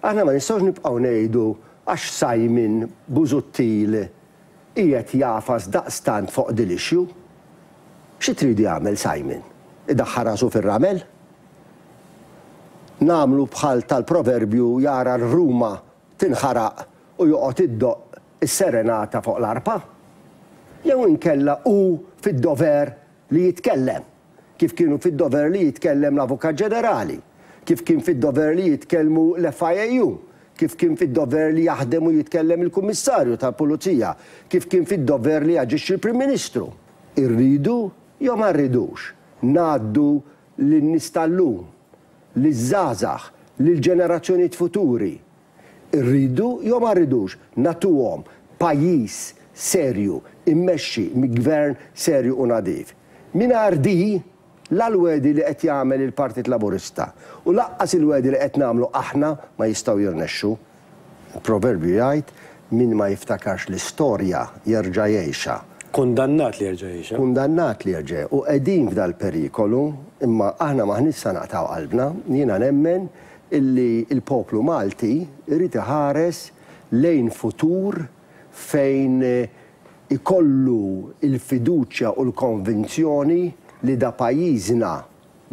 Aħna ma nistgħux nibqgħu ngħidu għax Simon Busuttil qiegħed jagħfas daqstant fuq din l-issue. Xi tridu jagħmel Simon? Idaħħal rasu fir-ramel? Nagħmlu bħal tal-proverbju jara r-Ruma tinħaraq u joqgħod iddoqq is-serenata fuq l-arpa? Jew inkella hu fid-dover li jitkellem, kif kienu fid-dover li jitkellem l-Avukat Ġenerali, kif kien fid-dover li jitkellmu l-FIAU, kif kien fid-dover li jaħdem u jitkellem il-Kummissarju tal-Pulizija, kif kien fid-dover li jaġixxi l-Prim Ministru? Irridu jew ma rridux ngħaddu lin-nies tal-lum, liż-żgħażagħ, lill-ġenerazzjonijiet futuri, Irridu jew ma rridux nagħtuhom pajjiż serju immexxi minn gvern serju u nadif. Mingħajr di, la l-wegħdi li qed jagħmel il-Partit Laburista u lanqas il-wegħdi li qed nagħmlu aħna ma jistgħu jirnexxu. Il-proverbju jgħid, min ma jiftakarx l-istorja jerġa' jgħixha. Kundannat li jerġa' jgħixha. Kundannat li jerġa' U qegħdin f'dal-perikolu, imma aħna m'aħniex sa naqtgħu qalbna. Jiena nemmen illi l-poplu Malti jrid iħares lejn futur fejn ikollu l-fiduċja u l-konvinzjoni li da pajjiżna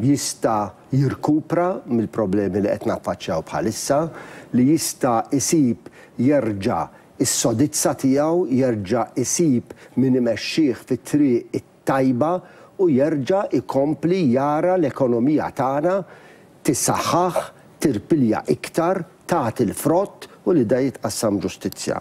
jista' jirkupra mill-problemi li qed naffaċċjaw bħalissa, li jista' jsib jerġa' s-sodizza tiegħu, jerġa' jsib min imexxih fit-triq it-tajba u jerġa' jkompli jara l-ekonomija tagħna tissaħħaħ, tirpilja iktar, tagħti l-frott u li da jitqassam ġustizzja.